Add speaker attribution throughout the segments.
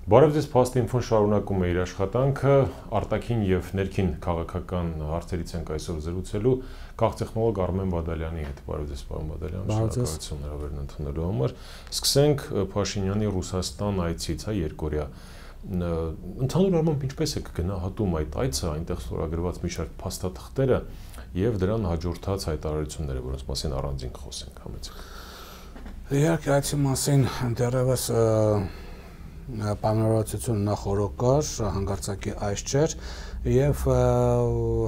Speaker 1: Բարև ձեզ, Փաստ Ինֆոն շարունակում է իր աշխատանքը, արտաքին եւ ներքին քաղաքական հարցերից ենք այսօր զրուցելու քաղտեխնոլոգ Արմեն Բադալյանի հետ։ Բարև ձեզ, պարոն Բադալյան, շնորհակալություն հրավերն ընդունելու համար։ Սկսենք Փաշինյանի Ռուսաստան այցից, երկօրյա։ Ընդհանուր առմամբ ինչպես է գնահատում այդ այցը, այնտեղ ստորագրված մի շարք փաստաթղթերը եւ դրան հաջորդած հայտարարությունները, որոնց մասին առանձին խոսենք, համեցեք։
Speaker 2: Իհարկե, այցի մասին դեռևս պայմանավորվածություն նախորդ կար, հանգարցակի այս չէր եւ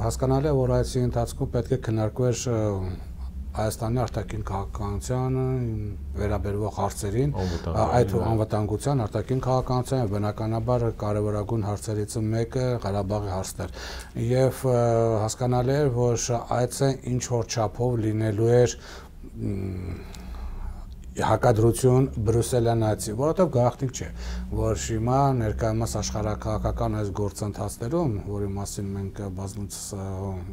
Speaker 2: հասկանալի է, որ այցի ընթացքում պետք է քննարկվեր Հայաստանի արտաքին քաղաքականությանը վերաբերող հարցերին, այդ անվտանգության, արտաքին քաղաքականության եւ բնականաբար կարևորագույն հարցերից մեկը Ղարաբաղի հարցն էր եւ հասկանալի էր, որ այցը ինչ որ չափով լինելու էր հակադրություն Բրյուսելյան այցի, որովհետև գաղտնիք չէ, որ հիմա ներկայումս աշխարհակաղակական այս գործընթացներում, որի մասին մենք բազմիցս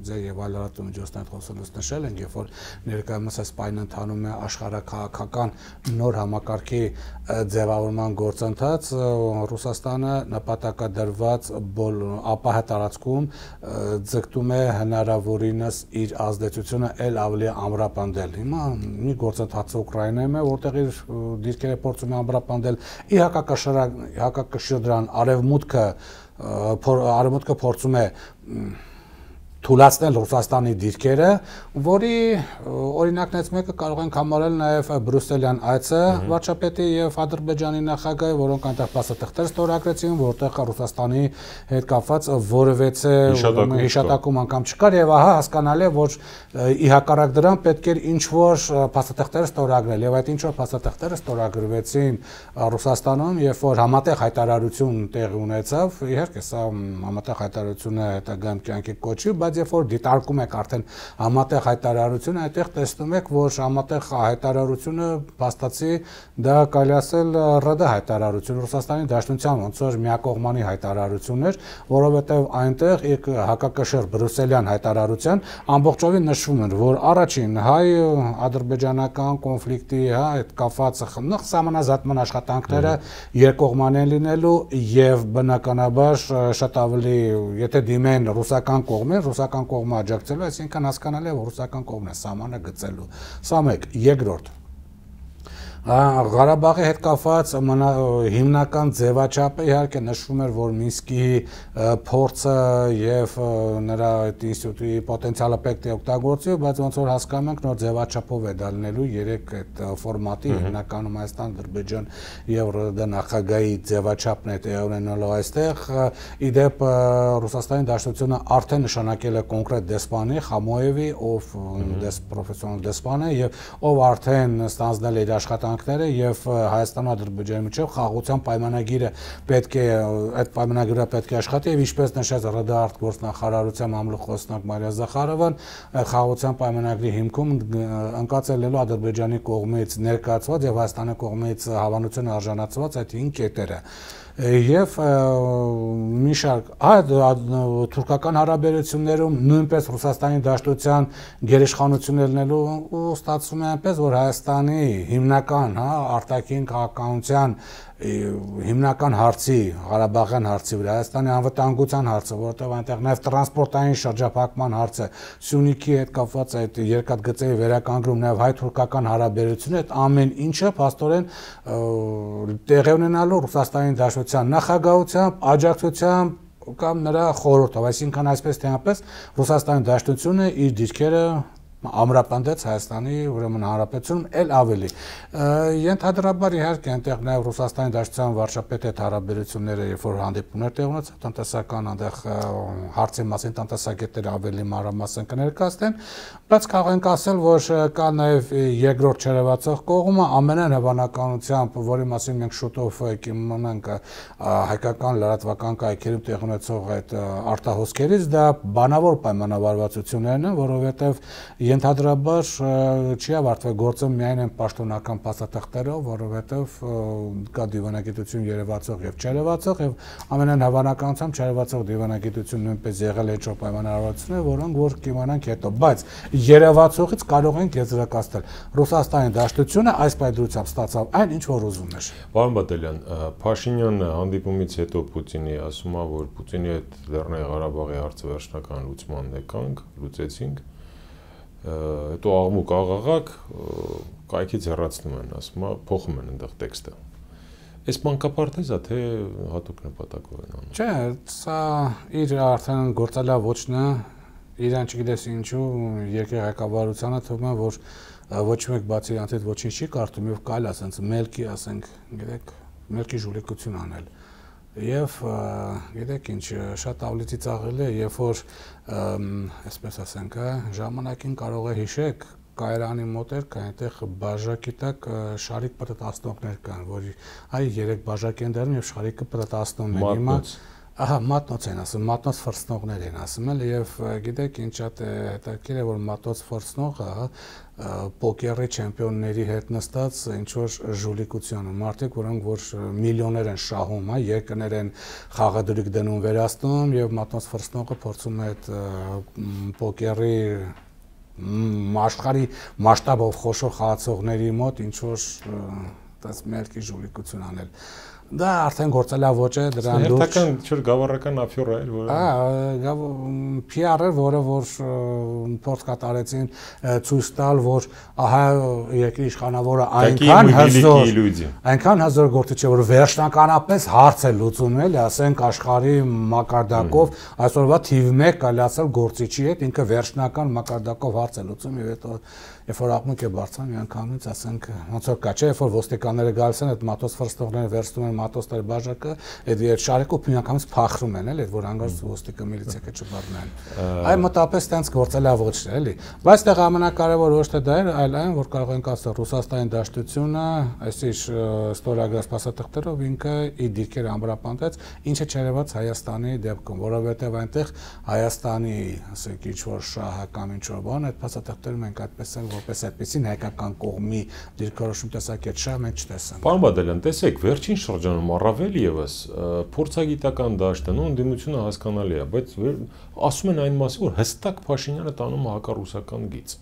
Speaker 2: ձեր եւ այլ լրատվամիջոցներ խոսելուց նշել ենք, երբ որ ներկայումս այս պայմանը ընթանում է աշխարհակաղակական նոր համակարգի ձևավորման գործընթաց, Ռուսաստանը նպատակադրված ապահ տարածքում ձգտում է հնարավորինս իր ազդեցությունը ել ավելի ամրապնդել։ Հիմա մի գործընթացը Ուկրաինայում է, որտեղ իր դիրքերը փորձում է ամրապնդել, ի հակակշիռ դրան արևմուտքը փորձում է թույլատնել Ռուսաստանի դիրքերը, որի օրինակներից մեկը կարող ենք համարել նաև Բրյուսելյան այցը վարչապետի եւ Ադրբեջանի նախագահի, որոնք այնտեղ փաստաթղթեր ստորագրեցին, որտեղ Ռուսաստանի հետ կապված որևէ հիշատակում անգամ չկար եւ ահա հասկանալի է, որ ի հակառակ դրան պետք էր ինչ որ փաստաթղթեր ստորագրել եւ այդ ինչ որ փաստաթղթերը ստորագրվեցին Ռուսաստանում, երբ որ համատեղ հայտարարություն տեղի ունեցավ, իհարկե սա համատեղ հայտարարությունը հետագայում կյանքի կոչի, բայց երբ որ դիտարկում եք արդեն համատեղ հայտարարությունը, այդտեղ տեսնում եք, որ համատեղ հայտարարությունը փաստացի դա կարելի ասել ՌԴ հայտարարություն, Ռուսաստանի Դաշնության ոնց որ միակողմանի հայտարարություն էր, որովհետև այնտեղ հակակշիռ Բրյուսելյան հայտարարության ամբողջովին նշվում էր, որ առաջին հայ-ադրբեջանական կոնֆլիկտի հետ կապված սահմանազատման աշխատանքները երկկողմանի են լինելու եւ բնականաբար շատ ավելի, եթե դիմեն ռուսական կողմին, ռուսական կողմը աջակցելու, այսինքն հասկանալի է, որ ռուսական կողմն է սահմանը գծելու։ Սա մեկ, երկրորդ Ղարաբաղի հետ կապված հիմնական ձևաչափը իհարկե նշվում էր, որ Մինսկի փորձը եւ նրա այդ ինստիտուտի պոտենցիալը պետք է օգտագործվի, բայց ոնց որ հասկանում ենք, նոր ձևաչափով է դա լինելու երեք այդ ֆորմատի հիմնականում Հայաստան, Ադրբեջան եւ ՌԴ նախագահի ձևաչափն է տեղի ունենալու այստեղ։ Իդեպ Ռուսաստանի Դաշնությունը արդեն նշանակել է կոնկրետ դեսպանի Խամոևի, ով պրոֆեսիոնալ դեսպան է եւ ով արդեն ստանձնել է իր աշխատանքները եւ Հայաստան ու Ադրբեջանի միջեւ խաղաղության պայմանագիրը պետք է այդ պայմանագիրը պետք է աշխատի եւ ինչպես նշեց ՌԴ արտգործնախարարության մամլոխոսնակ Մարիա Զախարովան, խաղաղության պայմանագրի հիմքում ընկած է լինելու Ադրբեջանի կողմից ներկայացված եւ Հայաստանի կողմից հավանության արժանացված այդ 5 կետերը եւ մի շարք թուրքական հարաբերություններում նույնպես Ռուսաստանի Դաշնության գերիշխանություն ելնելու ու ստացվում է այնպես, որ Հայաստանի հիմնական արտաքին քաղաքականության հիմնական հարցի, Ղարաբաղյան հարցի վրա, Հայաստանի անվտանգության հարցը, որտեղ այնտեղ նաև տրանսպորտային շրջափակման հարցը, Սյունիքի հետ կապված այդ երկաթգծերի վերականգնում, նաև հայ-թուրքական հարաբերությունները, այդ ամեն ինչը փաստորեն տեղի ունենալու Ռուսաստանի Դաշնության նախագահությամբ, աջակցությամբ կամ նրա խորհրդով, այսինքն այսպես թե այնպես Ռուսաստանի Դաշնությունը իր դիրքերը ամրապնդեց Հայաստանի ուրեմն հանրապետությունում ել ավելի։ Ենթադրաբար իհարկե այնտեղ նաև Ռուսաստանի Դաշնության վարչապետի հետ հարաբերությունները, երբ որ հանդիպումներ տեղ ունեցավ, տնտեսական այնտեղ հարցի մասին տնտեսագետները ավելի մանրամասն կներկայացնեն, բայց կարող ենք ասել, որ կա նաև երկրորդ չերևացող կողմը, ամենայն հավանականությամբ, որի մասին մենք շուտով կիմանանք հայկական լրատվական կայքերում տեղ ունեցող այդ արտահոսքերից, դա բանավոր պայմանավորվածություններն են, որովհետև ենթադրաբար չի ավարտվել գործը միայն այն պաշտոնական փաստաթղթերով, որովհետև կա դիվանագիտություն երևացող եւ չերևացող եւ ամենայն հավանականությամբ չերևացող դիվանագիտություն նույնպես եղել է ինչ-որ պայմանավորվածություններ, որոնք որ կիմանանք հետո, բայց երևացողից կարող ենք եզրակացնել Ռուսաստանի դաշտությունը այս պայմանությամբ ստացավ այն, ինչ որ ուզում էր։
Speaker 1: Պարոն Բադալյան, Փաշինյանը հանդիպումից հետո Պուտինի ասում է, որ Պուտինի հետ Լեռնային Ղարաբաղի հարցը վերջնական լուծման եկանք, լուծեցինք, հետո աղմուկ աղաղակ կայքից հեռացնում են, ասում է, փոխում են այնտեղ տեքստը։ Այս մանկապարտեզ է, թե հատուկ նպատակով են անում։
Speaker 2: Չէ, սա իր արդեն գործալա ոչն է, իրան չգիտես ինչու երկրի ղեկավարությանը թվում է, որ ոչ մեկ բացի իրանց հետ ոչինչ չի կարդում եւ կայլ ասենց մելքի, ասենք, գիտեք, մելքի ժուլիկություն անել։ Եվ գիտեք ինչ, շատ ավելի ծաղել է, երբ որ այսպես ասենք, ժամանակին կարող է հիշեք, կայարանի մոտ էր կա այնտեղ բաժակի տակ շարիկ պտտացնողներ կան, որ այ 3 բաժակ են դառնում եւ շարիկը պտտացնում են։ Հիմա ահա մատնոց են ասում, մատնոց ֆրսնողներ են ասում էլ եւ գիտեք ինչ շատ հետաքրքիր է որ մատնոց ֆրսնողը պոկերի չեմպիոնների հետ նստած ինչ որ ժուլիկություն մարդիկ որոնք որ միլիոններ են շահում, երկրներ են խաղադրույք դնում վերացնում եւ մատնոց ֆրսնողը փորձում է այդ պոկերի աշխարհի մասշտաբով խոշոր խաղացողների մոտ ինչ որ դες մերկի ժուլիկություն անել։ Դա արդեն գործալա ոչ է դրան դուրս։
Speaker 1: Հերթական չէր գավառական աֆյոր էր, որը
Speaker 2: PR-ը, որը որ փորձ կատարեցին ցույց տալ, որ ահա երկրի իշխանավորը այնքան հզոր գործիչ է, որ վերջնականապես հարց է լուծում էլի, ասենք աշխարհի մակարդակով այսօրվա թիվ 1 կալացել գործիչի հետ, ինքը վերջնական մակարդակով հարց է լուծում եւ հետո երբ որ աղմուկ է բարձրանում, միանգամից ասենք ոնց որ կա, չէ, երբ որ ոստիկանները գալիս են, այդ մատոց ֆրստողները վերցնում են մատոցների բաժակը, այդ շարիկով միանգամից փախրում են, էլի, այդ որ հանգարց ոստիկը միլիցիա չբռնեն։ Այ մոտապես տենց գործելա ոչ է, էլի։ Բայց այդտեղ ամենակարևորը ոչ թե դա էր, այլ այն, որ կարող ենք ասել Ռուսաստանի դաշտությունը, այսիշ ստորագրած փաստաթղթերով ինքը իր դիրքերը ամբրապնդեց, ինչը չերևաց Հայաստանի դեպքում, որովհետև այնտեղ Հայաստանի, ասենք, ինչ որ շահը կամ ինչ որ բան, այդ փաստաթղթերը մենք այդպես են որպես այդպեսին հայկական կողմի դիրքորոշում տեսակետ շահ մենք չտեսանք։
Speaker 1: Պարոն Բադալյան, տեսեք, վերջին շրջանում առավել եւս փորձագիտական դաշտը ու ընդդիմությունը հասկանալի է, բայց ասում են այն մասին, որ հստակ Փաշինյանը տանում է հակառուսական գիծ։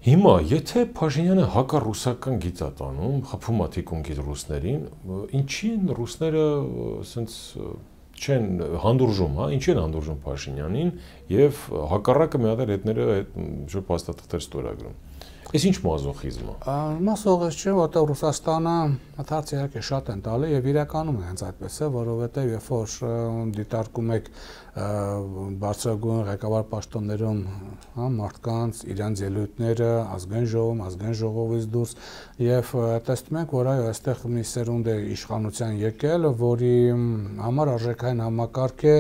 Speaker 1: Հիմա, եթե Փաշինյանը հակառուսական գիծ է տանում, խփում է թիկունքից ռուսներին, ինչի են ռուսները ասենց չեն հանդուրժում, հա, ինչի են հանդուրժում Փաշինյանին եւ հակառակը մի հատ հետները այդ շուտ փաստաթղթեր ստորագրում։ Այս ինչ մազոխիզմ է։
Speaker 2: Մազոխիզմ չէ, որտեղ Ռուսաստանը հաթարց իհարկե շատ են տալի եւ իրականում է հենց այդպես է, որովհետեւ երբ որ դիտարկում եք բարձրագույն ղեկավար պաշտոններում, հա, մարդկանց իրենց ելույթները ազգային ժողովից դուրս եւ տեսնում ենք, որ այո, այստեղ մի սերունդ է իշխանության եկել, որի համար արժեքային համակարգ է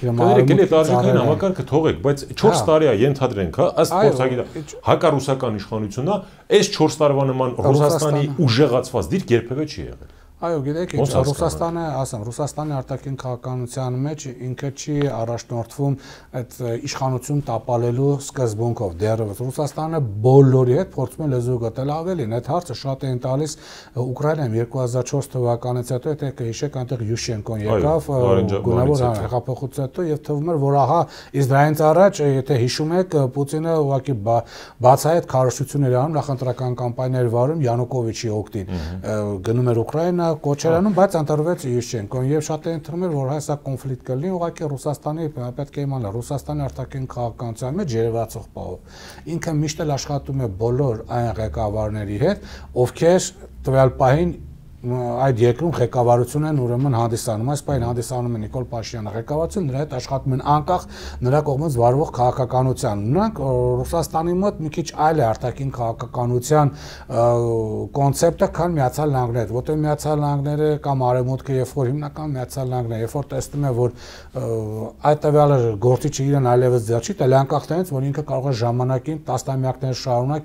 Speaker 1: Եկել է արժեքային համակարգը թողեք, բայց 4 տարի է ենթադրենք, հա, ըստ փորձագիտի հակառուսական իշխանությունն է, այս 4 տարվա նման Ռուսաստանի ուժեղացված դիրք երբևէ չի եղել։
Speaker 2: Այո, գիտեք, Ռուսաստանը, ասեմ, Ռուսաստանի արտաքին քաղաքականության մեջ ինքը չի առաջնորդվում այդ իշխանություն տապալելու սկզբունքով դեռևս Ռուսաստանը բոլորի հետ փորձում է լեզու գտել ավելին, այդ հարցը շատ էին տալիս Ուկրաինայում 2004 թվականից հետո, եթե կհիշեք, այնտեղ Յուշենկոն եկավ գունավոր հեղափոխությունից հետո եւ թվում էր, որ ահա իսկ դրանից առաջ, եթե հիշում եք, Պուտինը ուղղակի բացահայտ քարոզություններ անում, նախընտրական կամպանիաներ վարում Յանուկովիչի օգտին, գնում էր Ուկրաինա Կոչերանում, բայց ընտրվեց Յուշենկոն եւ շատ էին թվում էր, որ հայսա կոնֆլիկտ կլինի, ուղղակի Ռուսաստանի պետք է իմանալ, Ռուսաստանի արտաքին քաղաքականության մեջ երևացող բաղով։ Ինքը միշտ էլ աշխատում է բոլոր այն ղեկավարների հետ, ովքեր տվյալ պահին այդ երկրում ղեկավարություն են ուրեմն հանդիսանում, այս պահին հանդիսանում է Նիկոլ Փաշինյանը ղեկավարություն, նրա հետ աշխատում են անկախ նրա կողմից վարվող քաղաքականության։ Նրանք Ռուսաստանի մոտ մի քիչ այլ է արտաքին քաղաքականության կոնցեպտը, քան Միացյալ Նահանգները, որտեղ Միացյալ Նահանգները կամ Արևմուտքը, երբ որ հիմնական Միացյալ Նահանգները, երբ որ տեսնում է, որ այդ տվյալը գործիչը իրեն այլևս ձեռ չի տալի, անկախ նրանից, որ ինքը կարող է ժամանակին տասնամյակներ շարունակ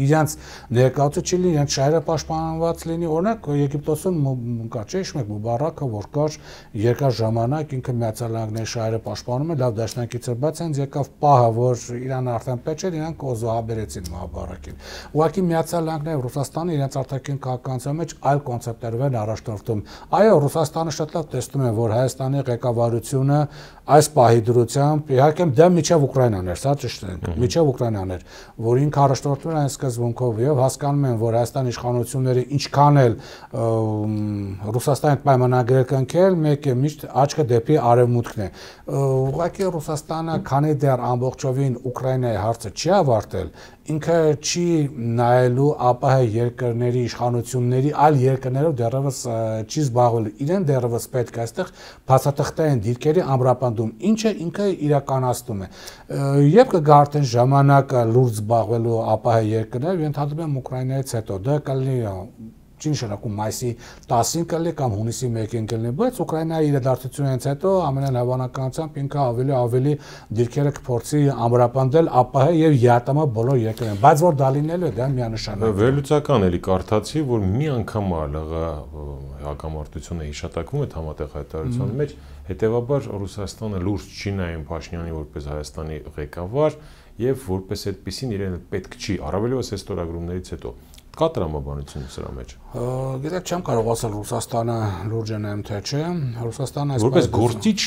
Speaker 2: իրենց ներկայացուցիչ լինի, իրենց շահերը պաշտպանված լինի, օրինակ Եգիպտոսում կա չէ՞ իշմեք Մուբարակը, որ կար երկար ժամանակ ինքը Միացյալ Նահանգների շահերը պաշտպանում էր, լավ դաշնակից էր, բայց հենց եկավ պահը, որ Իրանը արդեն պետք էր, իրանք օզոհաբերեցին Մուբարակին։ Ուղղակի Միացյալ Նահանգները Ռուսաստանը իրենց արտաքին քաղաքականության մեջ այլ կոնցեպտներով են առաջնորդում։ Այո, Ռուսաստանը շատ լավ տեսնում է, որ Հայաստանի ղեկավարությունը այս պահի դրությամբ իհարկե դա միջև Ուկրաինան էր, սա ճիշտ է, միջև Ուկրաինան էր, որ ինքը առաջնորդվում է այս սկզբունքով եւ հասկանում են, որ Հայաստանի իշխանությունները ինչքան էլ Ռուսաստանի պայմանագրեր կնքել, մեկ է միշտ աչքը դեպի արևմուտքն է։ Ուղղակի Ռուսաստանը, քանի դեռ ամբողջովին Ուկրաինայի հարցը չի ավարտել, ինքը չի նայելու ԱՊՀ երկրների իշխանությունների այլ երկրներով դեռևս չի զբաղվել։ Իրեն դեռևս պետք է այստեղ բացատրտային դիրքերի ամրապնդում, ինչը ինքը իրականացնում է։ Եվ կգա արդեն ժամանակը լուրջ զբաղվելու ԱՊՀ երկրներ, ենթադրում եմ Ուկրաինայից հետո, դա կլինի չի նշանակում մայիսի 10-ին կլինի կամ հունիսի 1-ին կլինի, բայց Ուկրաինայի իրադարձությունից հետո ամենայն հավանականությամբ ինքը ավելի դիրքերը կփորձի ամրապնդել ԱՊՀ եւ ԵԱՏՄ բոլոր երկրներն, բայց որ դա լինելու է, դա միանշանակ։
Speaker 1: Վերլուծական էլի կարդացի, որ մի անգամ ԼՂ հակամարտությունը հիշատակվում է համատեղ հայտարարության մեջ, հետեւաբար Ռուսաստանը լուրջ չի նայում Փաշինյանին որպես Հայաստանի ղեկավար եւ որպես այդպեսին իրեն պետք չի, առավելևս այս ստորագրումներից հետո։ Կա տրամաբանություն սրա մեջ։
Speaker 2: Գիտեք, չեմ կարող ասել Ռուսաստանը լուրջ է նայում թե չէ։ Ռուսաստանը այսպես
Speaker 1: որպես գործիչ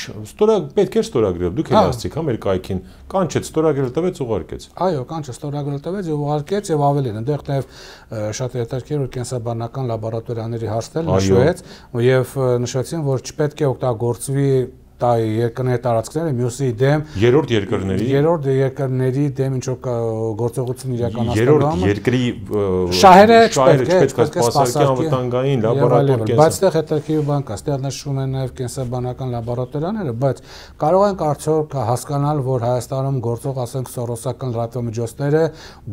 Speaker 1: պետք է ստորագրել։ Դուք էլ ասացիք, Ամերիկայքին կանչեց, ստորագրել տվեց, ուղարկեց։
Speaker 2: Այո, կանչեց, ստորագրել տվեց եւ ուղարկեց եւ ավելին։ Այնտեղ նաեւ շատ հետաքրքիր որ կենսաբանական լաբորատորիաների հարցեր նշվեց եւ նշեցին, որ չպետք է օգտագործվի երկրների տարածքները մյուսի դեմ
Speaker 1: երրորդ երկրների
Speaker 2: դեմ ինչ որ գործողություն իրականացնելու
Speaker 1: երրորդ երկրի
Speaker 2: շահերը
Speaker 1: չպետք է սպասարկի անվտանգային լաբորատոր կենսաբան,
Speaker 2: բայց այդտեղ հետաքրքիր բան կա, այդտեղ նշվում են նաև կենսաբանական լաբորատորիաները, բայց կարող ենք արդյոք հասկանալ, որ Հայաստանում գործող, ասենք, սորոսական լրատվամիջոցները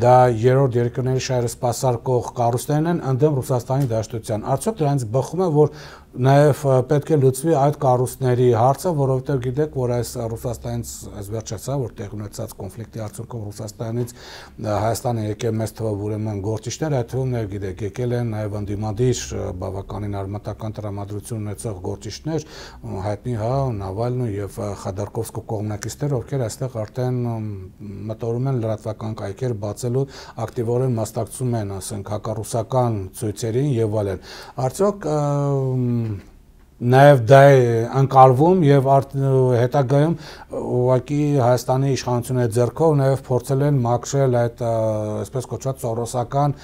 Speaker 2: դա երրորդ երկրների շահերը սպասարկող կառույցներն են ընդդեմ Ռուսաստանի դաշտության։ Արդյոք դրանից բխում է, որ նաև պետք է լուծվի այդ կառույցների հարցը, որովհետև գիտեք, որ այս Ռուսաստանից այս վերջացա, որ տեղ ունեցած կոնֆլիկտի արդյունքում Ռուսաստանից Հայաստանը եկել մեծ թվով ուրեմն գործիչներ, այդ թվում նաև գիտեք, եկել են նաև ընդդիմադիր բավականին արմատական տրամադրություն ունեցող գործիչներ, հայտնի Նավալնու եւ Խադարկովսկու կողմնակիցներ, ովքեր այստեղ արդեն մտորում են լրատվական կայքեր բացելու, ակտիվորեն մասնակցում են, ասենք, հակառուսական ցույցերին եւ այլն։ Արդյոք նաև դա է անկալվում եւ հետագայում ուղղակի Հայաստանի իշխանությունների ձեռքով նաև փորձել են մաքրել այդ այսպես կոչված սորոսական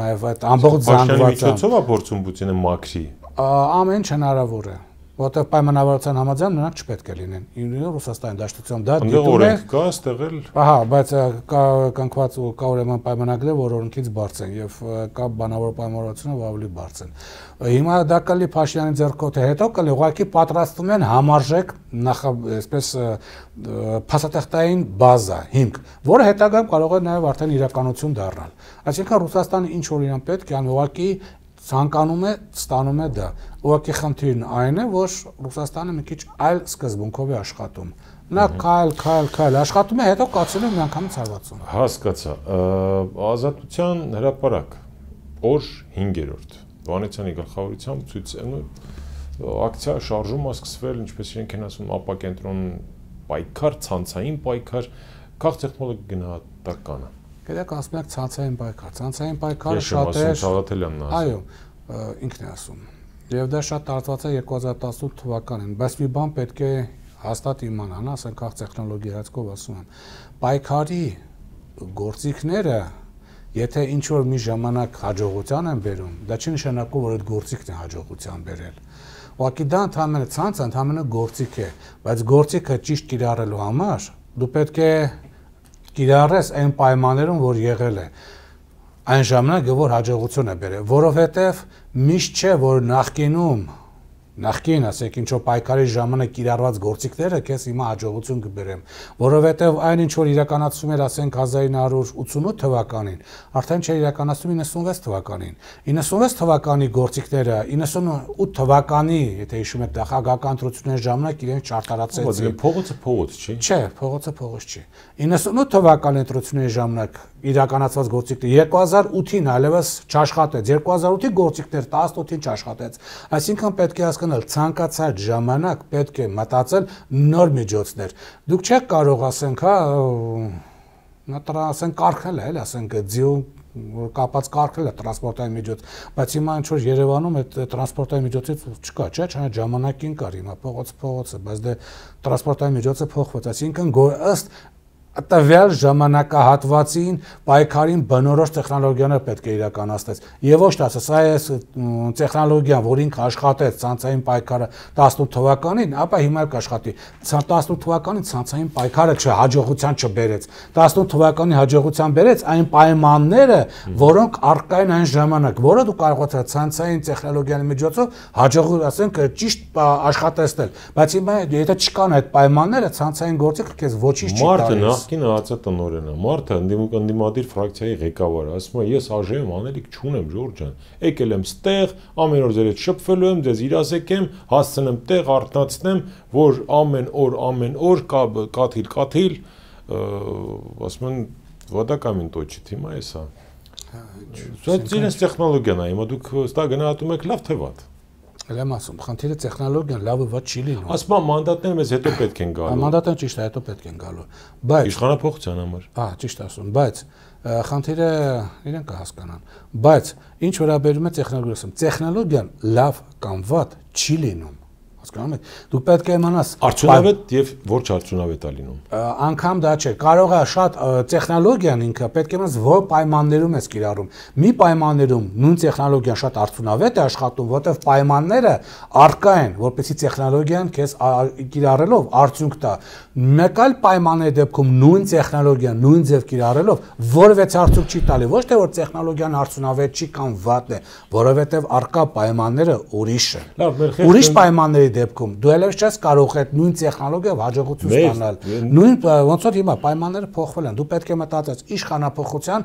Speaker 2: նաև այդ ամբողջ զանգվածը։
Speaker 1: Միջոցով է փորձում Պուտինը մաքրի։
Speaker 2: Ամեն ինչ հնարավոր է։ Որտեղ պայմանավորվածության համաձայն նրանք չպետք է լինեն։ Ռուսաստանի դաշտության դա դիտում է։
Speaker 1: Կա այստեղ էլ։
Speaker 2: Ահա, բայց կա կնքված կա ուրեմն պայմանագրեր, որ օրենքից բարձր են եւ կա բանավոր պայմանավորվածությունը ավելի բարձր են։ Հիմա դա կլի Փաշինյանի ձեռքով թե հետո կլի ուղղակի պատրաստվում են համարժեք այսպես փաստաթղթային բազա, հիմք, որը հետագայում կարող է նաեւ արդեն իրականություն դառնալ։ Այսինքն Ռուսաստանը ինչ որ իրան պետք է անի ուղղակի ցանկանում է, ստանում է դա։ Ուղղակի խնդիրն այն է, որ Ռուսաստանը մի քիչ այլ սկզբունքով է աշխատում։ Նա քայլ աշխատում է, հետո կացնում է միանգամից հարվածում։
Speaker 1: Հասկացա։ Ազատության հրապարակ օր 5-րդ Վանեցյանի գլխավորությամբ ակցիա շարժումը սկսվել, ինչպես իրենք են ասում, ապակենտրոն պայքար, ցանցային պայքար, քաղցեղմոլը գնահատականը։
Speaker 2: Գիտեք, ասում եք ցանցային պայքարը շատ է։
Speaker 1: Թաղաթելյանն ասում։
Speaker 2: Այո, ինքն է ասում։ Եվ դա շատ տարածված է 2018 թվականին, բայց մի բան պետք է հաստատ իմանան, ասենք քաղցտեխնոլոգիայի հայացքով ասում են, պայքարի գործիքները, եթե ինչ որ մի ժամանակ հաջողության են բերում, դա չի նշանակում, որ այդ գործիքն է հաջողության բերել։ Ուղղակի դա ընդհանրապես ցանց, ընդհանրապես գործիք է, բայց գործիքը ճիշտ կիրառելու համար դու պետք է կիրառես այն պայմաններում, որ եղել է, այն ժամանակ, որ հաջողություն է բերել, որովհետև միշտ չէ, որ նախկինում նախքին, ասենք, ինչ որ պայքարի ժամանակ կիրառված գործիքները քեզ հիմա հաջողություն կբերեմ, որովհետև այն ինչ որ իրականացվում էր, ասենք 1988 թվականին, արդեն չէր իրականացվում 96 թվականին։ 96 թվականի գործիքները 98 թվականի, եթե հիշում եք, նախագահական ընտրությունների ժամանակ իրենք չարտարացրեցին։
Speaker 1: Փողոցը փողոց չի։
Speaker 2: Չէ, փողոցը փողոց չի։ 98 թվականի ընտրությունների ժամանակ իրականացված գործիքները 2008-ին այլևս չաշխատեց, 2008-ի գործիքներ 18-ին չաշխատեց։ Այսինքն պետք է հասկանալ, ցանկացած ժամանակ պետք է մտածել նոր միջոցներ։ Դուք չեք կարող, ասենք, ասենք կարգել է, ասենք ձիու կապած կարգել է տրանսպորտային միջոց, բայց հիմա ինչ որ Երևանում այդ տրանսպորտային միջոցից չկա, չէ՞, ժամանակին կար, հիմա փողոցը, բայց դե տրանսպորտային միջոցը փոխված, այսինքն ըստ տվյալ ժամանակահատվածին պայքարին բնորոշ տեխնոլոգիաներ պետք է իրականացնես։ Եվ ոչ թե ասես, սա է տեխնոլոգիան, որ ինքը աշխատեց ցանցային պայքարը 18 թվականին, ապա հիմա էլ կաշխատի։ 18 թվականին ցանցային պայքարը հաջողության չբերեց։ 18 թվականի հաջողության բերեց այն պայմանները, որոնք առկա են այն ժամանակ, որը դու կարողացար ցանցային տեխնոլոգիայի միջոցով հաջող, ասենք, ճիշտ աշխատեցնել։ Բայց հիմա եթե չկան այդ պայմանները, ցանցային գործիքը քեզ ոչինչ չի տալիս։
Speaker 1: Կինը ԱԾՏ-նորենը, մարդը ընդդիմադիր ֆրակցիայի ղեկավարը, ասում է, ես ԱԺ-ում անելիք չունեմ, Ժորժ ջան, եկել եմ ստեղ, ամեն օր ձեր հետ շփվելու եմ, ձեզ իրազեկեմ, հասցնեմ տեղ, արթնացնեմ, որ ամեն օր կաթիլ, ասում են, вода камень точит, հիմա էսա։ Իրենց տեխնոլոգիան է, հիմա դուք ստա գնահատում եք լավ թե վատ։
Speaker 2: Եմ ասում, խնդիրը տեխնոլոգիան լավը վատ չի լինում։
Speaker 1: Ասում եմ, մանդատները մեզ հետո պետք են գալու։
Speaker 2: Մանդատները ճիշտ է, հետո պետք են գալու։ Բայց
Speaker 1: իշխանափոխության համար։
Speaker 2: Ճիշտ ասում, բայց խնդիրը իրենք կհասկանան։ Բայց ինչ վերաբերում է տեխնոլոգիան լավ կամ վատ չի լինում։ Հասկանում եք, դու պետք է իմանաս
Speaker 1: արդյունավետ եւ ոչ արդյունավետ է լինում։
Speaker 2: Անկամ դա չէ, կարող է շատ տեխնոլոգիան ինքը պետք է իմանաս որ պայմաններում է կիրառում։ Մի պայմաններում նույն տեխնոլոգիան շատ արդյունավետ է աշխատում, որտեղ պայմանները առկա են, որպեսզի տեխնոլոգիան քեզ կիրառելով արդյունք տա։ Մեկ այլ պայմանների դեպքում նույն տեխնոլոգիան նույն ձև կիրառելով որևէ արդյունք չի տալի, ոչ թե որ տեխնոլոգիան արդյունավետ չի կամ վատ է, որովհետեւ առկա պայմանները ուրիշ են։ Ուրիշ պայմանների դեպքում դու ելևս չես կարող այդ նույն տեխնոլոգիայով հաջողություն ստանալ։ Նույն ոնց որ հիմա պայմանները փոխվել են, դու պետք է մտածես իշխանափոխության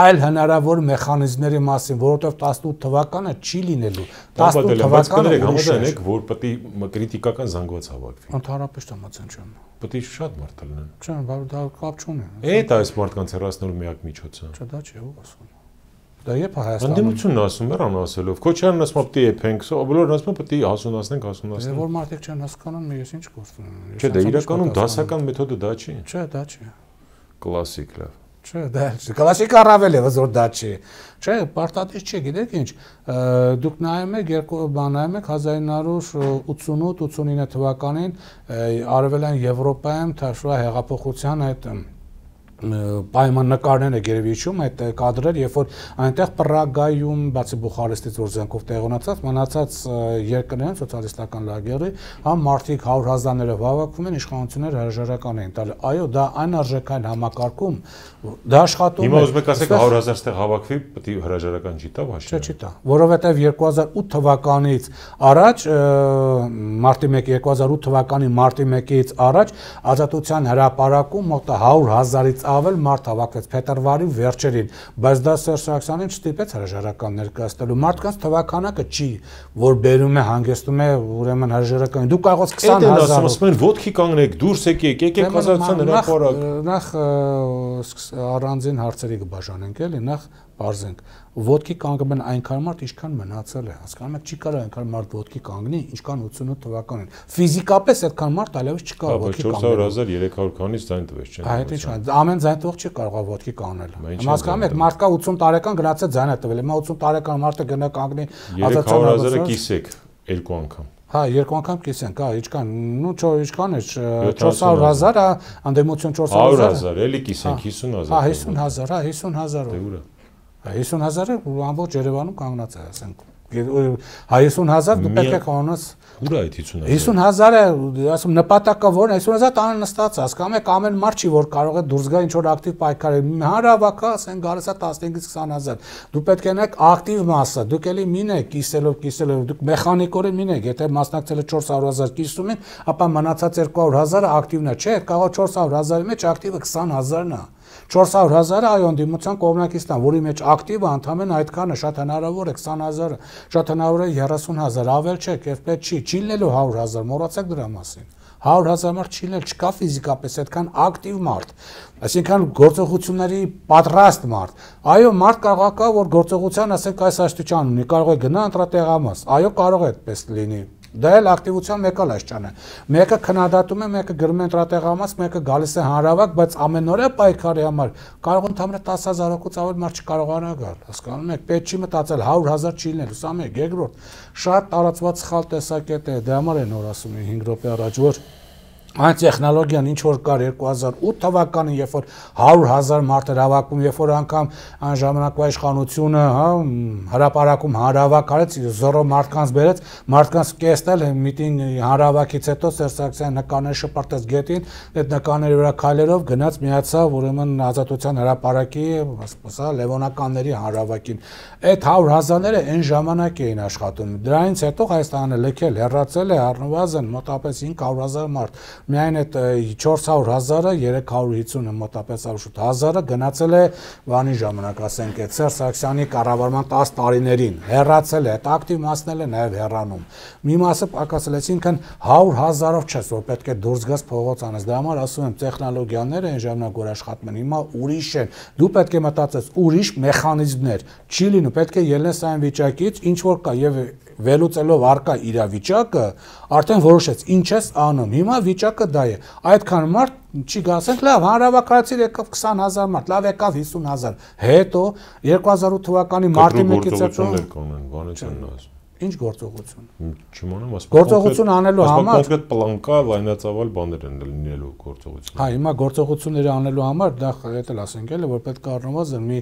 Speaker 2: այլ հնարավոր մեխանիզմների մասին, որովհետև 18 թվականը չի լինելու։ 18 թվականը
Speaker 1: համաձայնեք, որ պետք է կրիտիկական զանգված հավաքվի։
Speaker 2: Ընդհանրապես համաձայն չեմ։
Speaker 1: Պետք է շատ մարդ լինեն։
Speaker 2: Չէ, դա կապ չունի։
Speaker 1: Այդ այս մարդկանց հեռացնելու միակ միջոցը։
Speaker 2: Չէ, դա չէ, ով ասում։ Դա երբ Հայաստանում։
Speaker 1: Անդիմությունն ասում էր անասելով։ Քոչարյանն ասում է պետք է եփենք, բոլորն ասում են պետք է հասունացնենք։
Speaker 2: Որ մարդիկ չեն հասկանում, ես ինչ գործում եմ։
Speaker 1: Չէ, դա իրականում դասական մեթոդը դա չի։
Speaker 2: Չէ, դա չի։
Speaker 1: Կլասիկ լավ։
Speaker 2: Չէ, դա կլասիկ առավել է, որ դա չի։ Չէ, պարտադիր չի, գիտեք ինչ, դուք նայում եք 1988-89 թվականին արևելյան Եվրոպայում թաշվա հեղափոխության այդ պայմաննկարները գերեւի հիշում այդ կադրեր, երբ որ այնտեղ Պրագայում, բացի Բուխարեստից, որ զենքով տեղոնացած, մնացած երկրներն սոցիալիստական լագերի, համ մարդիկ 100,000-ներով հավաքվում են, իշխանությունները հրաժարական էին տալի։ Այո, դա այն արժեքային համակարգում, դա աշխատում է։
Speaker 1: Հիմա ուզում եք ասեք 100,000 ստեղ հավաքվի, պետք է հրաժարական չի տա,
Speaker 2: Չէ, չի տա, որովհետև 2008 թվականից առաջ մարտի 1, 2008 թվականի մարտի 1-ից առաջ Ազատության հրապարակում մոտ 100,000-ից ավել մարդ հավաքվեց փետրվարի վերջերին, բայց դա Սերժ Սարգսյանին չստիպեց հրաժարական ներկայացնելու։ Մարդկանց թվականակը չի, որ բերում է հանգեցնում է ուրեմն հրաժարական։ Դու կարող ես 20,000
Speaker 1: ասում են ոտքի կանգնեք, դուրս եկեք Ազատության հրապարակ։
Speaker 2: Նախ առանձին հարցերի կբաժանենք էլի, նախ բարձենք ոտքի կանգնում են այնքան մարդ, ինչքան մնացել է, հասկանում եք, չի կարող այնքան մարդ ոտքի կանգնի, ինչքան 88 թվականին։ Ֆիզիկապես այդքան մարդ այլևս չկա ոտքի կանգնել։
Speaker 1: 400,000, 300 քանից ձայն տվեց չեն։
Speaker 2: Այդ ինչ, ամեն ձայն տվող չի կարող ոտքի կանգնել։ Հասկանում եք, մարդկա 80 տարեկան գնացել ձայն է տվել, հիմա 80 տարեկան մարդը գնա կանգնի
Speaker 1: Ազատության 300,000-ը կիսեք երկու անգամ։
Speaker 2: Հա, երկու անգամ կիսենք, հա, ինչքան, նու ինչքան է 400,000, անդեմություն
Speaker 1: 400,000, էլի կիսենք 50,000։
Speaker 2: Հա, 50,000, հա, 50,000։ 50,000-ը ամբողջ Երևանում կանգնած է, ասենք 50,000 դու պետք է խոնես
Speaker 1: ուր է այդ 50,000
Speaker 2: 50,000-ը ասում նպատակը որն է 50,000 տանը նստած հասկանում եք ամեն մարդ չի որ կարող է դուրս գա ինչ որ ակտիվ պայքարել հանրավակա ասեն գալիս է 15-ից 20,000 դու պետք է նայեք ակտիվ մասը դուք էլի մինեք կիսելով դուք մեխանիկորեն մինեք եթե մասնակցել եք 400,000 կիսում եք ապա մնացած 200,000-ը ակտիվն է չէ կարող 400,000-ի մեջ ակտիվը 20,000-ն է 400,000-ը այո ընդդիմության կողմնակիցն որի մեջ ակտիվը ընդհանրապես այդքանը շատ հնարավոր է 20,000-ը շատ հնարավոր է 30,000 ավել չէ կերպետ չի լինելու 100,000 մոռացեք դրա մասին 100,000 մարդ չի լինել չկա ֆիզիկապես այդքան ակտիվ մարդ այսինքն գործողությունների պատրաստ մարդ այո մարդ կարող է որ գործողության ասենք այս աստիճան ունի կարող է գնա ընտրատեղամաս այո կարող է այդպես լինի դա էլ ակտիվության մեկ էլ այսչան է մեկը քննադատում է մեկը գրում է ընտրատեղամաս մեկը գալիս է հանրավակ բայց ամեն օրը պայքարի համար կարող ընդհանրապես 10,000-ից ավել մարդ չկարողանա գալ հասկանում եք պետք չի մտածել 100,000 չի լինել ուսամ եք երկրորդ շատ տարածված սխալ տեսակետ է դրա համար են որ ասում են 5 րոպե առաջ որ այն տեխնոլոգիան ինչ որ կար 2008 թվականին երբ որ 100,000 մարդ էր հավաքում երբ որ անգամ այն ժամանակվա իշխանությունը հա հրապարակում հանրավակ արեց զորո մարդկանց բերեց մարդկանց կեսնել միտինգ հանրավակից հետո Սերժ Սարգսյանը նկաներ շպրտեց գետին այդ նկաների վրա քայլերով գնաց միացավ ուրեմն ազատության հրապարակի ասա լևոնականների հանրավակին այդ 100,000-ները այն ժամանակ էին աշխատում դրանից հետո Հայաստանը լքել հեռացել է առնվազն մոտապես 500,000 մարդ միայն այդ 400,000-ը 350-ը մոտապես ավելի 1000-ը գնացել է բանի ժամանակ ասենք այդ Սերժ Սարգսյանի կառավարման 10 տարիներին հեռացել է այդ ակտիվ մասն էլ է նաև հեռանում մի մասը պակասել այսինքն 100,000-ով չես որ պետք է դուրս գաս փողոց անես դրա համար ասում եմ տեխնոլոգիաները այն ժամանակ որ աշխատում են հիմա ուրիշ են դու պետք է մտածես ուրիշ մեխանիզմներ չի լինում պետք է ելնես այն վիճակից ինչ որ կա եւ վերլուծելով արկա իրավիճակը արդեն որոշեց ինչ ես անում հիմա վիճակը դա է այդքան մարդ չի գա ասենք լավ հանրավակայացիր եկավ 20,000 մարդ լավ եկավ 50,000 հետո 2008 թվականի մարտի 1-ից հետո
Speaker 1: բանը չեն ասում
Speaker 2: ինչ գործողություն
Speaker 1: չիմանամ ասում
Speaker 2: գործողություն անելու համար
Speaker 1: կոնկրետ պլան կա լայնածավալ բաներ են լինելու գործողություն
Speaker 2: հա հիմա գործողությունները անելու համար դա հետել ասենք էլի որ պետք է առնվազն մի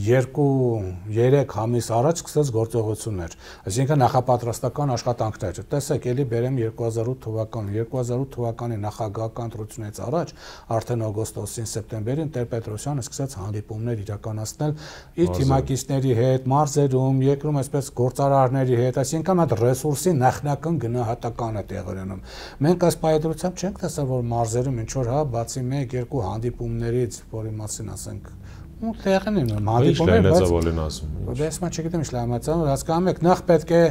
Speaker 2: 2-3 ամիս առաջ սկսած գործողություններ այսինքն նախապատրաստական աշխատանքներ տեսեք էլի բերեմ 2008 թվականի նախագահական ընտրությունից առաջ արդեն օգոստոսին սեպտեմբերին Տեր-Պետրոսյանը սկսեց հանդիպումներ իրականացնել իր թիմակիցների հետ մարզերում երկրում այսպես գործարարների հետ այսինքն այդ ռեսուրսի նախնական գնահատական է տեղի ունենում մենք այս պայծառությամբ չենք տեսել որ մարզերում ինչ որ հա բացի 1-2 հանդիպումներից որի մասին ասենք ու տեղն են հանդիպումներ բայց ես չգիտեմ ինչ լայնացավ հասկանում եք նախ պետք է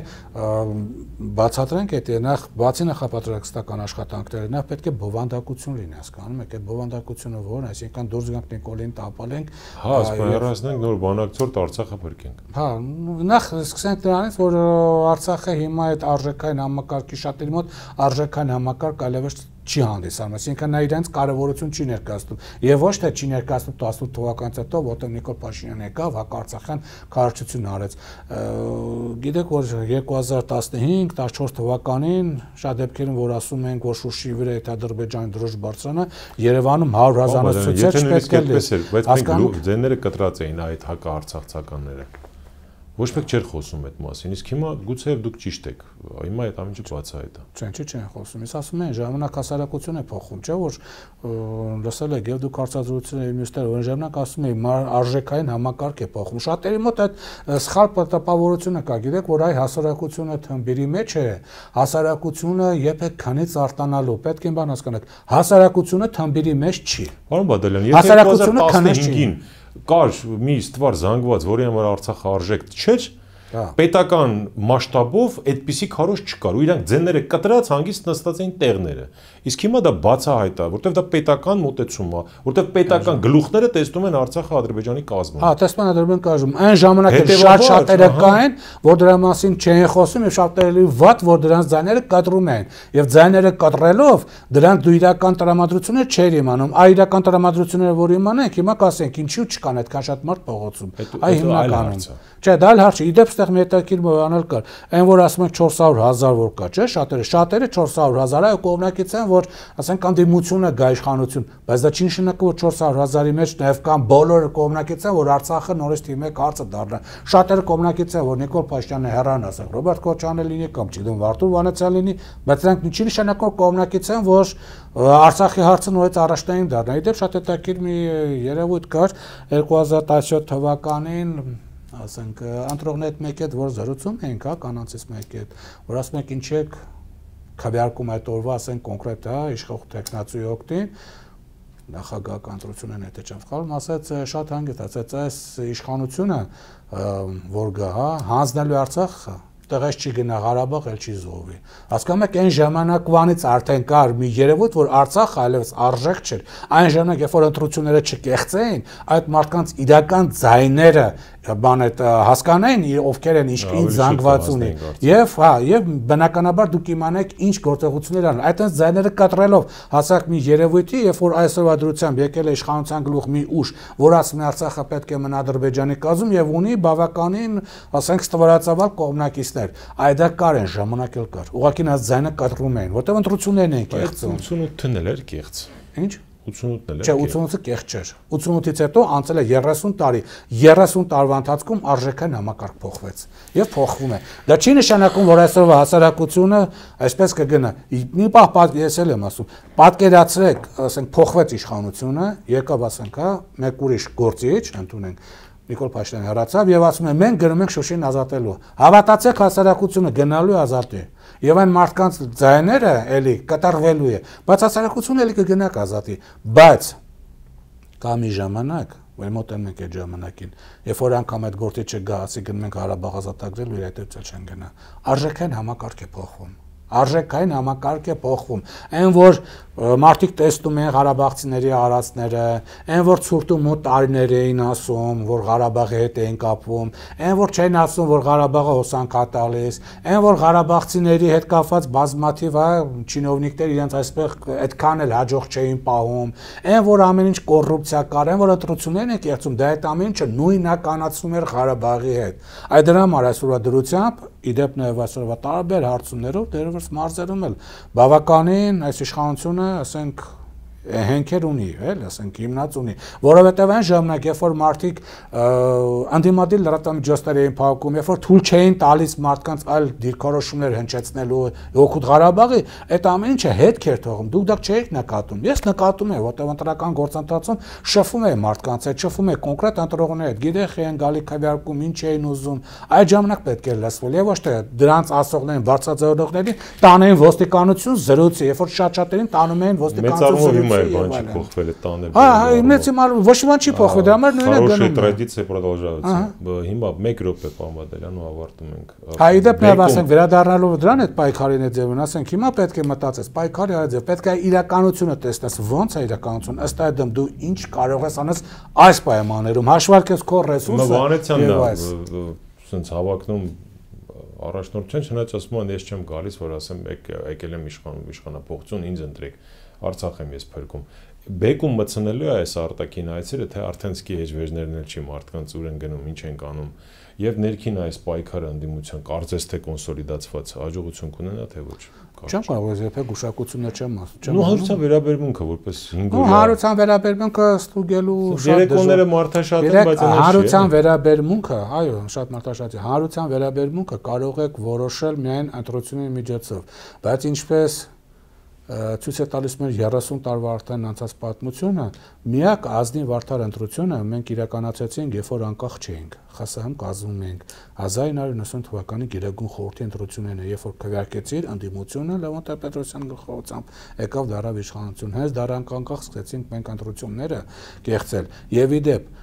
Speaker 2: բացատրենք այդ նախ բացի նախապատրաստական աշխատանքները նախ պետք է բովանդակություն լինի հասկանում եք այդ բովանդակությունը որն է այսինքն դուրս գանք Նիկոլին տապալենք
Speaker 1: հա սպայրացնենք նոր բանակցորդ Արցախը փրկենք
Speaker 2: հա նախ սկսենք դրանից որ Արցախը հիմա այդ արժեքային համակարգի շատերի մոտ արժեքային համակարգ այլևս չի հանդիսանում, այսինքն նա իրենց կարևորություն չի ներկայացնում եւ ոչ թե չի ներկայացնում 18 թվականից հետո, որտեղ Նիկոլ Փաշինյանը եկավ, հակարցախյան քարոզություն արեց։ Գիտեք, որ 2015-14 թվականին շատ դեպքերում որ ասում ենք, որ Շուշիի վրա այդ Ադրբեջանի դրոշ բարձրանը, Երևանում 100,000-ից ցույց պետք է լինի։
Speaker 1: Բայց ձեները կտրած էին այդ հակաարցախցականները։ Ոչ մեկ չէր խոսում այդ մասին, իսկ հիմա գուցե դուք ճիշտ եք, հիմա այդ ամենը բացահայտ է։
Speaker 2: Չեն խոսում, ես ասում եմ, ժամանակ հասարակություն է փոխում, չէ՞ որ լսել եք եւ դուք հարցազրույցները մյուսներ որ ժամանակ ասում եք արժեքային համակարգ է փոխում։ Շատերի մոտ այդ սխալ տպավորությունը կա, գիտեք, որ այ հասարակությունը թմբիրի մեջ է, հասարակությունը երբեք քանից արտանալու, պետք է բան հասկանաք, հասարակությունը թմբիրի մեջ չի։
Speaker 1: Պարոն Բադալյան, եթե 2015-ին կար մի ստվար զանգված, որի համար Արցախը արժեք չէր, պետական մասշտաբով այդպիսի քարոզ չկար, ու իրանք ձենները կտրած հանգիստ նստած էին տեղները։ Իսկ հիմա դա բացահայտ է, որտեղ դա պետական մոտեցում է, որտեղ պետական գլուխները տեսնում են Արցախը Ադրբեջանի կազմում։
Speaker 2: Հա, տեսնում են Ադրբեջանի կազմում։ Այն ժամանակ էլ շատ շատերը կային, որ դրա մասին չէին խոսում, եւ շատերը վատ, որ դրանց ձայները կտրում են։ Եվ ձայները կտրելով դրանք դու իրական տրամադրություններ չէր իմանում։ Այ իրական տրամադրությունները, որ իմանանք, հիմա կասենք, ինչու չկան այդքան շատ մարդ փողոցում։ Այ հիմնականում։ Չէ, դա էլ հարց է։ Իդեպ այստեղ մետակիր մոյանալ կար։ Այն որ ասում են 400,000 որ կա, չէ՞, շատերը 400,000, այո, կողմնակից են, որ ասենք անդիմությունը գա իշխանություն, բայց դա չի նշանակում, որ 400,000-ի մեջ նաև կան բոլորը կողմնակից են, որ Արցախը նորից թիմի մեկ հարցը դառնա։ Շատերը կողմնակից են, որ Նիկոլ Փաշինյանը հեռան, ասենք Ռոբերտ Քոչարյանը լինի կամ չգիտեմ Վարդուր Վանեցյան լինի, բայց նրանք չի նշանակում կողմնակից են, որ Արցախի հարցը նորից առաջնային դառնա։ Իդեպ շատ հետաքրքիր մի երևույթ կար 2017 թվականին, ասենք ընտրողների հետ մեկի հետ որ զրուցում էինք, հա, կանանցից մեկի հետ, որ ասում եք ինչ եք քվեարկում այդ օրվա, ասենք կոնկրետ, հա, իշխող տեխնացուի օգտին, նախագահական ընտրությունն է, թե չեմ սխալվում, ասաց շատ հանգիստ, ասաց այս իշխանությունը որ գա, հա, հանձնելու Արցախը տեղից չի գնա Ղարաբաղ, էլ չի զոհվի։ Հասկանում եք, այն ժամանակվանից արդեն կար մի երևույթ, որ Արցախը այլևս արժեք չէր։ Այն ժամանակ, երբ որ ընտրությունները չկեղծեին, այդ մարդկանց իրական ձայները բան այդ հասկանային, ովքեր են ինչ զանգված ունի։ Եվ հա, եւ բնականաբար դուք իմանեք ինչ գործողություններ ան։ Այդտենց ձայները կտրելով հասակ մի երևույթի, երբ որ այսօրվա դրությամբ եկել է իշխանության գլուխ մի ուժ, որ ասում է Արցախը պետք է մնա Ադրբեջանի կազմում եւ ունի բավականին, ասենք, ստվարածավալ կողմնակիցներ։ Այդ դա կար են ժամանակ էլ կար։ Ուղղակի նա ձայնը կտրում էին, որտեղ ընտրություններն էին կեղծում։
Speaker 1: 88-ն էլ էր կեղծ։
Speaker 2: Ինչ?
Speaker 1: 88-ն էլ էր։
Speaker 2: Չէ, 88-ը կեղծ չէր։ 88-ից հետո անցել է 30 տարի։ 30 տարվա ընթացքում արժեքային համակարգ փոխվեց եւ փոխվում է։ Դա չի նշանակում, որ այսօրվա հասարակությունը այսպես կգնա։ Մի պահ ես էլ եմ ասում, պատկերացրեք, ասենք փոխվեց իշխանությունը, եկավ ասենք, հա, մեկ ուրիշ գործիչ, ընդունենք Նիկոլ Փաշինյանը հեռացավ եւ ասում է մենք գնում ենք Շուշին ազատելու։ Հավատացեք, հասարակությունը գնալու է ազատի։ Եվ այն մարդկանց ձայները էլի կատարվելու է, բայց հասարակությունը էլի կգնա ազատի։ Բայց կա մի ժամանակ, որ մոտենում ենք այդ ժամանակին, երբ որ անգամ այդ գործիչը գա, ասի գնում ենք Ղարաբաղ ազատագրելու, իր հետևից չեն գնա։ Արժեքային համակարգ է փոխվում։ Արժեքային համակարգ է փոխվում։ Այն որ մարդիկ տեսնում են Ղարաբաղցիների արածները, այն որ ցուրտում ու տարիներ էին ասում, որ Ղարաբաղի հետ էին կապվում, այն որ չեն ասում, որ Ղարաբաղը հոսանք է տալիս, այն որ Ղարաբաղցիների հետ կապված բազմաթիվ չինովնիկներ իրենց այսպես այդքան էլ հաջող չէին պահում, այն որ ամեն ինչ կոռուպցիա կար, այն որ ընտրություններն են կեղծում, դա այդ ամեն ինչը նույնականացում էր Ղարաբաղի հետ։ Այդ դրա համար այսօրվա դրությամբ իդեպ նաև այսօրվա տարբեր հարցումներով դերևս մարզերում էլ բավականին այս իշխանությունը, ասենք, հենքեր ունի, էլ ասենք հիմնած ունի, որովհետև այն ժամանակ, երբ որ մարդիկ անդիմադիր լրատվամիջոցներ էին փակում, երբ որ թույլ չէին տալիս մարդկանց այլ դիրքորոշումներ հնչեցնելու օգուտ Ղարաբաղի, այդ ամեն ինչը հետք էր թողում, դուք դա չէիք նկատում։ Ես նկատում եմ, որտեղ ընտրական գործընթացում շփվում է մարդկանց հետ, շփվում է կոնկրետ ընտրողների հետ, գիտեք են գալի քվեարկում, ինչ էին ուզում, այդ ժամանակ պետք է լսվել, եւ ոչ թե դրանց ասողներին, բարձրաձայնողներին տանեն ոստիկանություն զրույցի, երբ որ շատ-շատերին տանում էին ոստիկանություն
Speaker 1: Բան չի փոխվել է տանել։
Speaker 2: Հա, մեծ իմալ ոչ մի բան չի փոխվել, դրա համար նույնը գնում է։
Speaker 1: Хорошая традиция продолжается։ Հիմա 1 րոպե Պամադելյան ու ավարտում ենք։
Speaker 2: Հա, իդեպ նաև ասենք վերադառնալով դրան այդ պայքարին է ձևն, ասենք հիմա պետք է մտածես, պայքարի այդ ձև, պետք է իրականությունը տեսնես, ոնց է իրականությունը, ըստ այդմ դու ինչ կարող ես անես այս պայմաններում, հաշվարկես քո ռեսուրսը։
Speaker 1: Վանեցյանն է, ասենց հավակնում առաջնորդ չեն, չնայած ասում են ես չեմ գալիս, որ ասեմ եկել եմ իշխանապողություն, ինձ ընտրեք։ Արցախ եմ ես փրկում։ Բեկում մտցնելու է այս արտաքին այցերը, թե արդեն սկի հեջվեժներն էլ չի մարդկանց ուր են գնում, ինչ են կանում, եւ ներքին այս պայքարը անդիմության կարծես թե կոնսոլիդացված հաջողություն կունենա, թե ոչ։
Speaker 2: Չեմ կարող երբեք գուշակություններ չեմ ասում։
Speaker 1: Նու հարուցան վերաբերմունքը որպես 5 օր։
Speaker 2: Հարուցան վերաբերմունքը ստուգելու
Speaker 1: շատ երեկոները մարդաշատ են, բայց
Speaker 2: հարուցան վերաբերմունքը, այո, շատ մարդաշատ է։ Հարուցան վերաբերմունքը կարող եք որոշել միայն ընտրությունների միջոցով, բայց ինչպես ցույց է տալիս մեր 30 տարվա արդեն անցած պատմությունը, միակ ազնիվ արդար ընտրությունը մենք իրականացրեցինք, երբ որ անկախ չէինք, ԽՍՀՄ կազմում էինք 1990 թվականի Գերագույն խորհրդի ընտրությունները, երբ որ քվեարկեցիր անդիմությունը Լևոն Տեր-Պետրոսյանի գլխավորությամբ եկավ դարավ իշխանություն, հենց դրանք անկախ սկսեցինք մենք ընտրությունները կեղծել, եւ իդեպ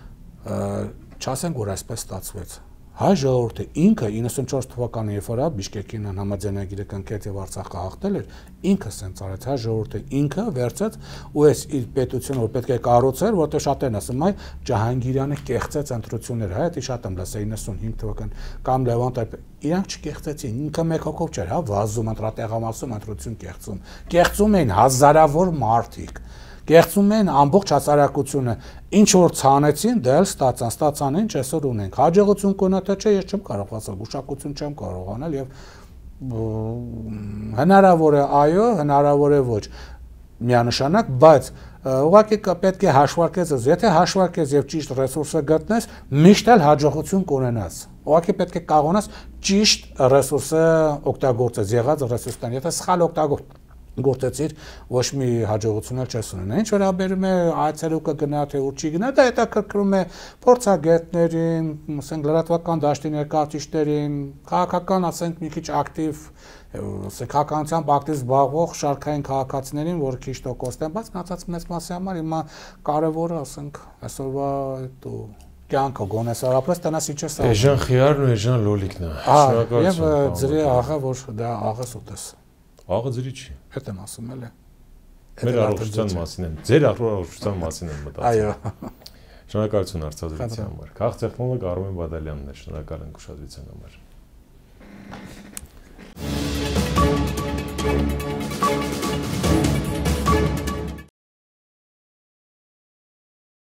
Speaker 2: չասենք որ այսպես ստացվեց։ Հայ ժողովուրդը ինքը 94 թվականին երբ որ Բիշկեկին համաձայնագիրը կնքեց եւ Արցախը հաղթել էր, ինքը սենց արեց, հայ ժողովուրդը ինքը վերցեց ու այս իր պետությունը որ պետք է կառուցեր, որտեղ շատերն ասում այ Ջահանգիրյանը կեղծեց ընտրությունները, հա, դա շատ եմ լսել 95 թվական կամ Լևոն Տեր, իրանք չկեղծեցին, ինքը մեկ հոգով չէր, հա, վազում ընտրատեղամասում ընտրություն կեղծում էին հազարավոր մարդիկ։ կեղծում էին ամբողջ հասարակությունը, ինչ որ ցանեցին, դա էլ ստացան, ինչ այսօր ունենք։ Հաջողություն կունենա թե չէ, ես չեմ կարող ասել, գուշակություն չեմ կարող անել եւ հնարավոր է այո, հնարավոր է ոչ միանշանակ, բայց ուղղակի պետք է հաշվարկես, եթե հաշվարկես եւ ճիշտ ռեսուրսը գտնես, միշտ էլ հաջողություն կունենաս։ Ուղղակի պետք է կարողանաս ճիշտ ռեսուրսը օգտագործես, եղած ռեսուրսն, եթե սխալ գործեցիր, ոչ մի հաջողություն էլ չես ունենա։ Ինչ վերաբերում է այցելու կգնա թե ուր չի գնա, դա հետաքրքրում է փորձագետներին, ասենք լրատվական դաշտի ներկայացուցիչներին, քաղաքական, ասենք մի քիչ ակտիվ, քաղաքականությամբ ակտիվ զբաղվող շարքային քաղաքացիներին, որ քիչ տոկոսն են, բայց մնացած մեծ մասի համար հիմա կարևորը, ասենք, այսօրվա կյանքը գոնե սարապրես տնաս ինչ է սա։
Speaker 1: Էժան խիարն ու էժան լոլիկն է։
Speaker 2: Եվ ձրի աղը, որ դա աղս ուտես։
Speaker 1: Աղը ձրի չի։
Speaker 2: Հետ եմ ասում էլ է։
Speaker 1: Մեր առողջության մասին եմ, ձեր առողջության մասին եմ մտածում։
Speaker 2: Այո։
Speaker 1: Շնորհակալություն հարցազրույցի համար։ Քաղաքատեխնոլոգ Արմեն Բադալյանն է, շնորհակալ ենք ուշադրության համար։